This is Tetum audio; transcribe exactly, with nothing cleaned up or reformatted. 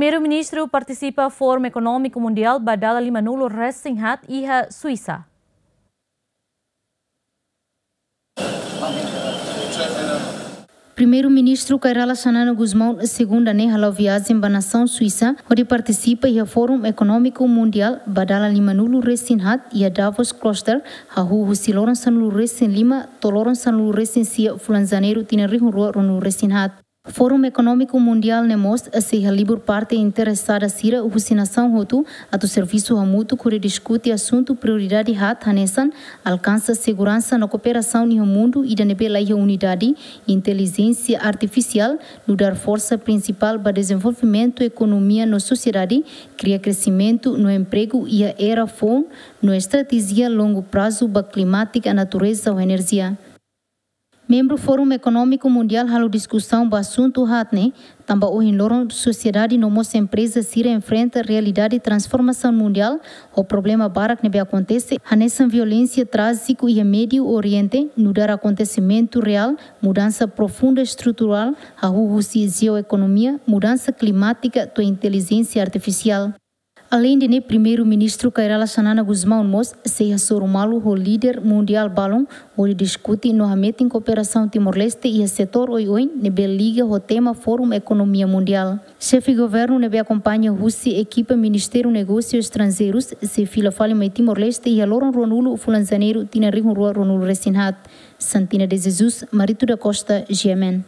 Primeiru-Ministru partisipa Fórum Ekonómiku Mundiál ba dala lima-nulu resin haat iha Suisa. Primeiru-Ministru Kay Rala Xanana Gusmão, segunda ne'e hala'o viajen ba nasaun Suisa, hodi partisipa iha Fórum Ekonómiku Mundiál ba dala lima-nulu resin haat iha Davos Klosters, hahú husi loron sanulu resin lima to'o loron sanulu resin sia fulan Janeiru tinan rihun rua ruanulu resin haat. Fórum Ekonómiku Mundiál ne'e mós sei halibur parte interesada sira husi nasaun hotu atu servisu hamutuk hodi diskute asuntu prioridade haat hanesan alkansa seguransa no kooperasaun iha mundu ida ne'ebé laiha unidade, intelijénsia artifisiál, nu'udar forsa prinsipál ba dezenvolvimentu ekonomia no sosiedade, kria kresimentu no empregu iha era foun, no estratéjia longu prazu ba klimátika, natureza ho enerjia. Membru Fórum Ekonómiku Mundiál halo diskusaun ba asuntu haat ne'e, tanba ohin loron sosiedade no mós empreza sira enfrenta realidade transformasaun mundiál ho problema barak ne'ebé akontese, hanesan violénsia trájiku iha Médiu Oriente, nu'udar akontesimentu reál, mudansa profunda estruturál, hahú husi jeoekonomia, mudansa klimátika to'o intelijénsia artifisiál. Aleinde ne'e, Primeiru-Ministru Kay Rala Xanana Gusmão mós sei hasoru malu ho líder mundiál balun hodi diskute no hametin kooperasaun Timor-Leste iha setór oioin ne'ebé liga ho tema Fórum Ekonomia Mundiál. Xefe Governu ne'ebé akompaña husi ekipa Ministériu Negósius Estranjeirus sei fila fali mai Timor-Leste iha loron ruanulu fulan Janeiru tinan rihun rua ruanulu resin haat. Santina de Jesus, Marito da Costa, G M N.